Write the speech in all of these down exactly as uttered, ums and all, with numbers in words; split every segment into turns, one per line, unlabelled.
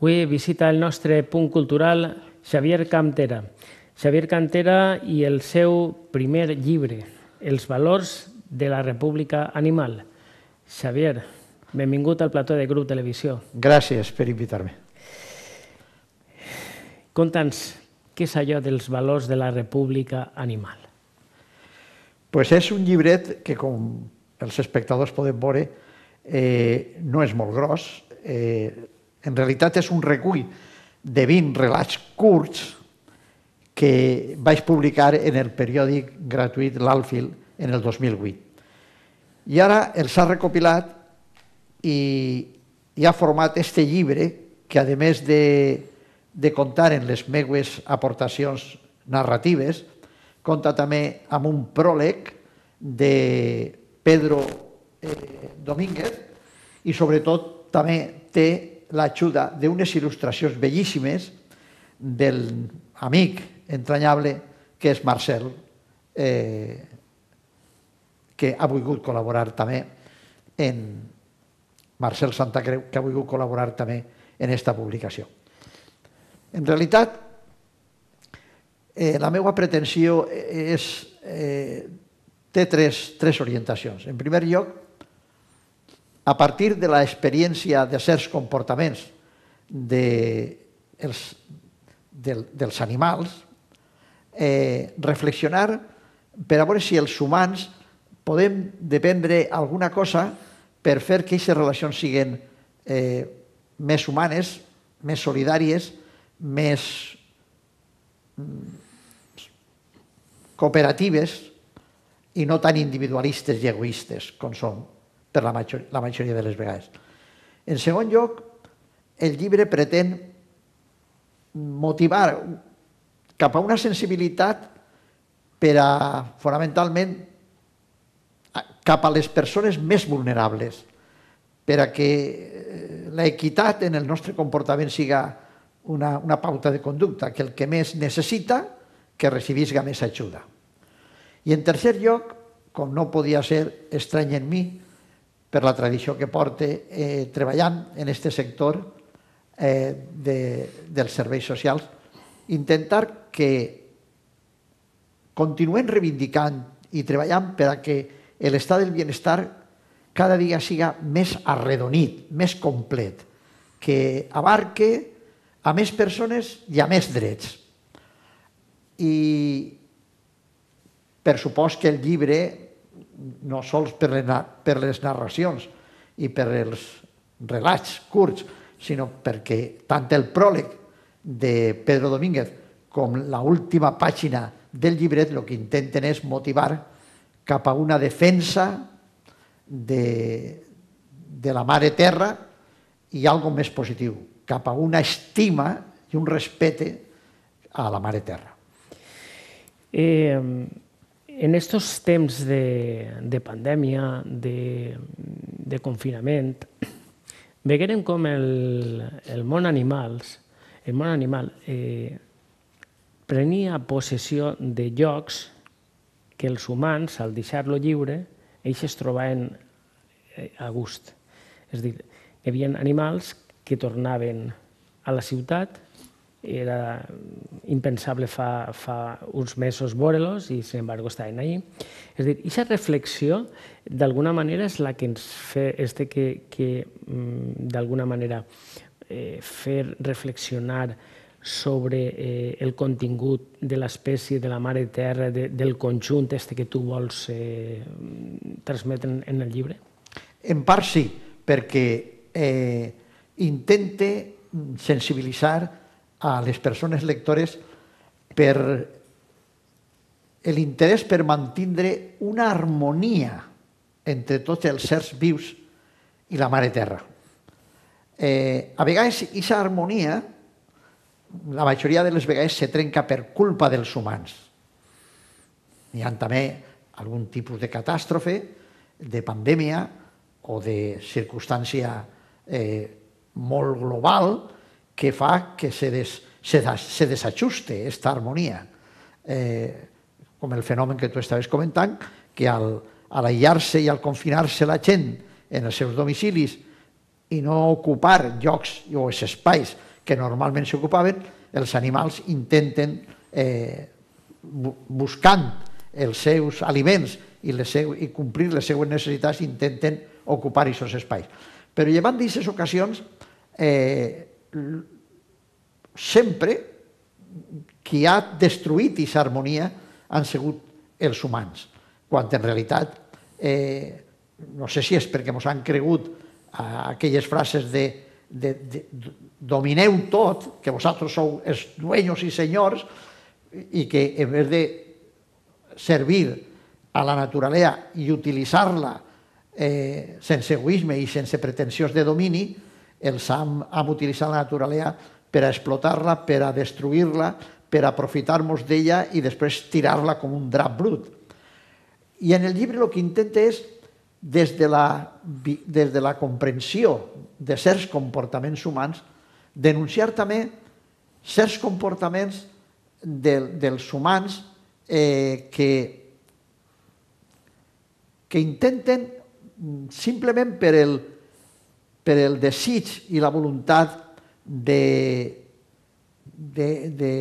Avui visita el nostre punt cultural Xavier Cantera. Xavier Cantera i el seu primer llibre, Els valors de la República Animal. Xavier, benvingut al plató de Grup Televisió.
Gràcies per invitar-me.
Conta'ns, què és allò dels valors de la República Animal?
Pues és un llibret que, com els espectadors poden veure, eh, no és molt gros. Eh, en realitat és un recull de vint relats curts que vaig publicar en el periòdic gratuït L'Alfil en el dos mil vuit. I ara els ha recopilat i, i ha format este llibre que, a més de, de comptar en les meues aportacions narratives, compta també amb un pròleg de Pedro eh, Domínguez i, sobretot, també té l'ajuda d'unes il·lustracions bellíssimes del amic entranyable que és Marcel, eh, que ha volgut col·laborar també en Marcel Santacreu, que ha volgut col·laborar també en aquesta publicació. En realitat, eh, la meva pretensió és, eh, té tres, tres orientacions. En primer lloc, a partir de l'experiència de certs comportaments de, els, de, dels animals, eh, reflexionar per a veure si els humans podem dependre alguna cosa per fer que aquestes relacions siguin eh, més humanes, més solidàries, més cooperatives i no tan individualistes i egoistes com són per la majoria, la majoria de les vegades. En segon lloc, el llibre pretén motivar cap a una sensibilitat per a, fonamentalment, cap a les persones més vulnerables, per a que l'equitat en el nostre comportament siga una, una pauta de conducta, que el que més necessita, que recibisca més ajuda. I en tercer lloc, com no podia ser estrany en mi, per la tradició que porte eh, treballant en aquest sector eh, de, dels serveis socials, intentar que continuem reivindicant i treballant per a que l'estat del benestar cada dia siga més arredonit, més complet, que abarque a més persones i a més drets. I per supost que el llibre, no sols per les narracions i per els relats curts, sinó perquè tant el pròleg de Pedro Domínguez com l'última pàgina del llibret el que intenten és motivar cap a una defensa de, de la mare terra i algo més positiu, cap a una estima i un respecte a la mare terra.
Eh... En estos temps de, de pandèmia, de, de confinament, veguérem com el, el món animals, el món animal eh, prenia possessió de llocs que els humans, al deixar-lo lliure, ells es trobaven a gust. És a dir, hi havia animals que tornaven a la ciutat. Era impensable fa, fa uns mesos veure-los i, sin embargo, estaven allí. És a dir, aquesta reflexió, d'alguna manera, és la que ens fe, este que, que d'alguna manera, eh, fer reflexionar sobre eh, el contingut de l'espècie, de la mare terra, de, del conjunt este que tu vols eh, transmetre en el llibre?
En part sí, perquè eh, intente sensibilitzar a les persones lectores per l'interès per mantindre una harmonia entre tots els sers vius i la mare terra. Eh, a vegades, aquesta harmonia, la majoria de les vegades, se trenca per culpa dels humans. Hi ha també algun tipus de catàstrofe, de pandèmia o de circumstància eh, molt global que fa que se, des, se, se desajuste aquesta harmonia. Eh, com el fenomen que tu estaves comentant, que al, al aïllar-se i al confinar-se la gent en els seus domicilis i no ocupar llocs o els espais que normalment s'ocupaven, els animals intenten, eh, buscant els seus aliments i, les seu, i complir les seues necessitats, intenten ocupar aquests espais. Però llevant d'aquestes ocasions, eh, sempre qui ha destruït aquesta harmonia han sigut els humans, quan en realitat, eh, no sé si és perquè ens han cregut a aquelles frases de, de, de domineu tot, que vosaltres sou els dueños i senyors, i que en vez de servir a la naturalesa i utilitzar-la eh, sense egoisme i sense pretensions de domini, els hem, hem utilitzat la naturalesa per a explotar-la, per a destruir-la, per a aprofitar-nos d'ella i després tirar-la com un drap brut. I en el llibre el que intenta és, des de la, des de la comprensió de certs comportaments humans, denunciar també certs comportaments de, dels humans eh, que, que intenten simplement per el, per el desig i la voluntat de, de, de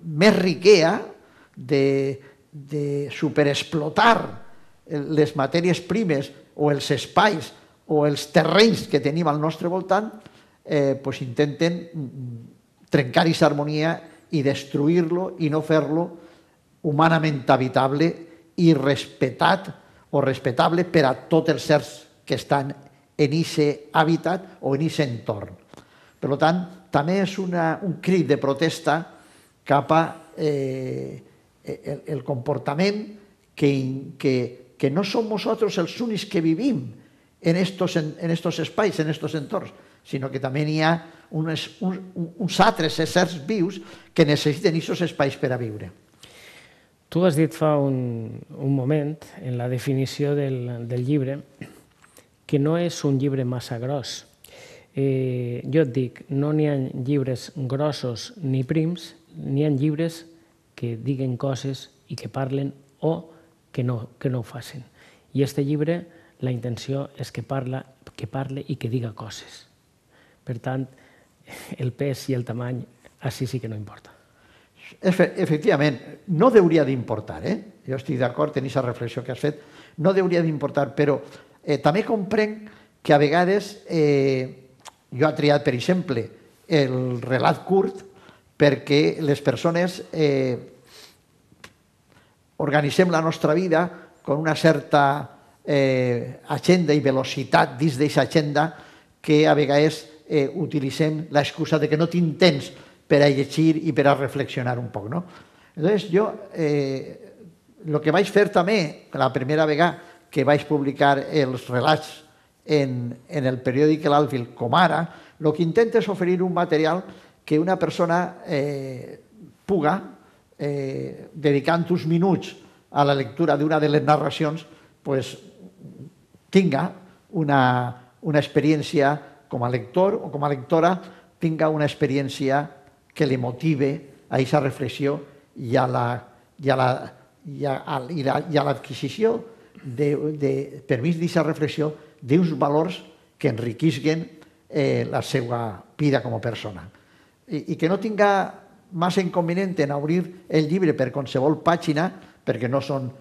més riquea, de, de superexplotar les matèries primes o els espais o els terrenys que tenim al nostre voltant, eh, pues intenten trencar aquesta harmonia i destruir-lo i no fer-lo humanament habitable i respetat o respetable per a tots els certs que estan en aquest hàbitat o en aquest entorn. Per tant, també és una, un crit de protesta cap a eh, el, el comportament que, que, que no som nosaltres els únics que vivim en estos, en estos espais, en estos entorns, sinó que també n'hi ha uns, uns, uns altres éssers vius que necessiten aquests espais per a viure.
Tu has dit fa un, un moment, en la definició del, del llibre, que no és un llibre massa gros. Eh, jo et dic, no n'hi ha llibres grossos ni prims, n'hi ha llibres que diguen coses i que parlen o que no, que no ho facin. I aquest llibre, la intenció és que, parla, que parle i que diga coses. Per tant, el pes i el tamany, així sí que no importa.
Efectivament, no hauria d'importar, eh? Jo estic d'acord en aquesta reflexió que has fet, no hauria d'importar, però eh, també comprenc que a vegades eh, jo he triat, per exemple, el relat curt perquè les persones eh, organitzem la nostra vida con una certa eh, agenda i velocitat dins d'aquesta agenda que a vegades eh, utilitzem l'excusa de que no tinc temps per a llegir i per a reflexionar un poc. No? Llavors, jo eh, el que vaig fer també, la primera vegada que vaig publicar els relats en, en el periòdic L'Alfil, com ara, el que intenta és oferir un material que una persona eh, puga, eh, dedicant uns minuts a la lectura d'una de les narracions, pues, tinga una, una experiència com a lector o com a lectora, tinga una experiència que li motive a aquesta reflexió i a l'adquisició, per mig d'aquesta reflexió, d'uns valors que enriquisquen eh, la seva vida com a persona. I, i que no tinga massa inconvenient en obrir el llibre per qualsevol pàgina, perquè no són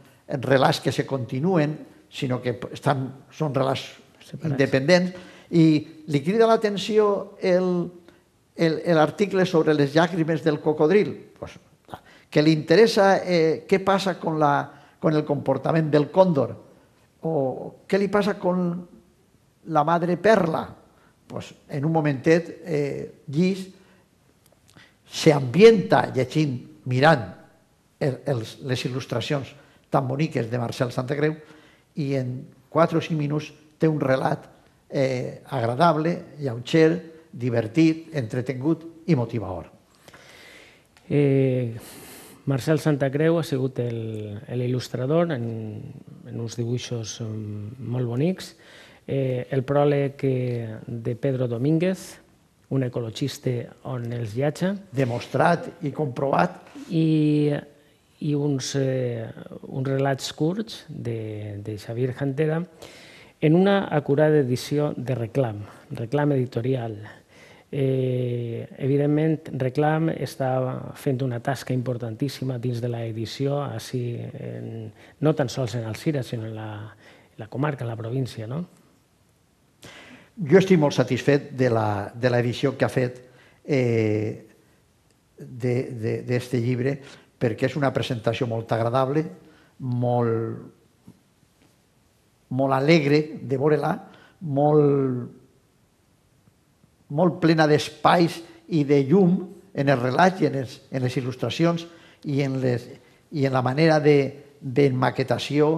relats que se continuen, sinó que estan, són relats separats, independents, i li crida l'atenció l'article sobre les llàgrimes del cocodril, pues, que li interessa eh, què passa con, la, con el comportament del còndor, o què li passa con la madre perla. Pues, en un momentet, eh, Llis s'ambienta llegint, mirant el, els, les il·lustracions tan boniques de Marcel Santacreu, i en quatre o cinc minuts té un relat eh, agradable, lleuger, divertit, entretingut i motivador.
Eh, Marcel Santacreu ha sigut l'il·lustrador en, en uns dibuixos molt bonics. Eh, el pròleg de Pedro Domínguez, un ecologista on els viatja.
Demostrat i comprovat.
I, i uns, eh, uns relats curts de, de Xavier Jantera en una acurada edició de Reclam, Reclam editorial. Eh, evidentment, Reclam està fent una tasca importantíssima dins de l'edició, així, en, no tan sols en Alzira, sinó en la, en la comarca, en la província, no?
Jo estic molt satisfet de l'edició que ha fet eh, d'aquest llibre, perquè és una presentació molt agradable, molt, molt alegre de veure-la, molt molt plena d'espais i de llum en el relat i en les, en les il·lustracions i en, les, i en la manera d'emmaquetació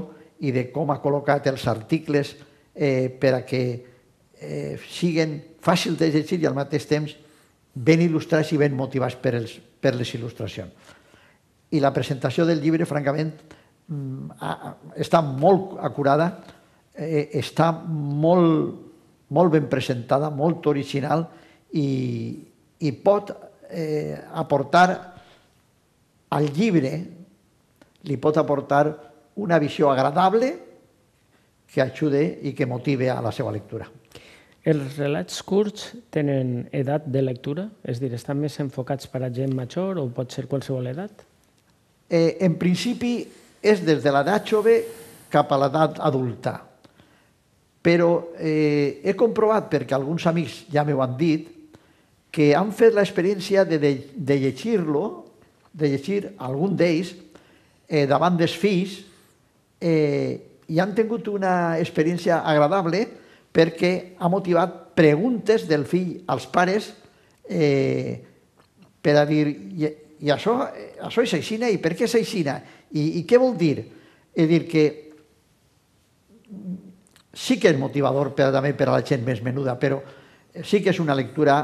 i de com ha col·locat els articles eh, per a que eh, siguin fàcils de llegir i al mateix temps ben il·lustrats i ben motivats per, els, per les il·lustracions. I la presentació del llibre, francament, està molt acurada, eh, està molt... molt ben presentada, molt original i, i pot eh, aportar al llibre, li pot aportar una visió agradable que ajude i que motive a la seva lectura.
Els relats curts tenen edat de lectura? És a dir, estan més enfocats per a gent major o pot ser qualsevol edat?
Eh, en principi és des de l'edat jove cap a l'edat adulta. Però eh, he comprovat, perquè alguns amics ja m'ho han dit, que han fet l'experiència de, de, de llegir-lo, de llegir algun d'ells eh, davant dels fills eh, i han tingut una experiència agradable perquè ha motivat preguntes del fill als pares eh, per a dir i, i això, això és aixina i per què és aixina i, i què vol dir? És dir que sí que és motivador per, també per a la gent més menuda, però sí que és una lectura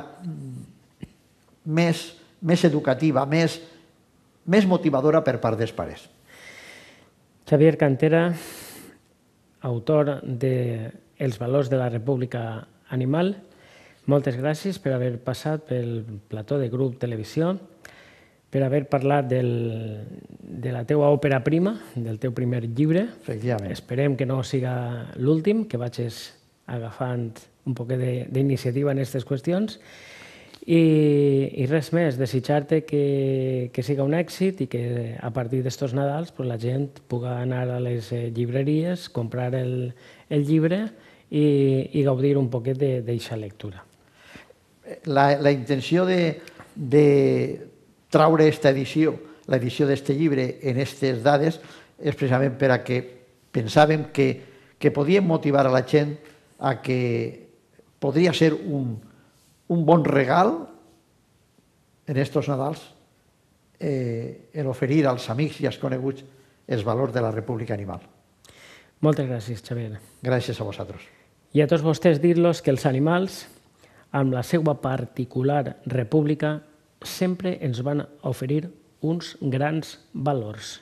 més, més educativa, més, més motivadora per part dels pares.
Xavier Cantera, autor de Els valors de la República Animal, moltes gràcies per haver passat pel plató de Grup Televisió, per haver parlat del, de la teua òpera prima, del teu primer llibre.
Efectivament.
Esperem que no siga l'últim, que vagis agafant un poc d'iniciativa en aquestes qüestions. I, i res més, desitjar-te que, que siga un èxit i que a partir d'estos Nadals pues, la gent pugui anar a les llibreries, comprar el, el llibre i, i gaudir un poquet d'aquesta lectura.
La, la intenció de, de traure aquesta edició, l'edició d'aquest llibre en aquestes dades, és precisament per a que pensàvem que, que podíem motivar a la gent a que podria ser un, un bon regal en estos Nadals eh, en oferir als amics i als coneguts els valors de la República Animal.
Moltes gràcies, Xavier.
Gràcies a vosaltres.
I a tots vostès dir-los que els animals, amb la seva particular república, sempre ens van oferir uns grans valors.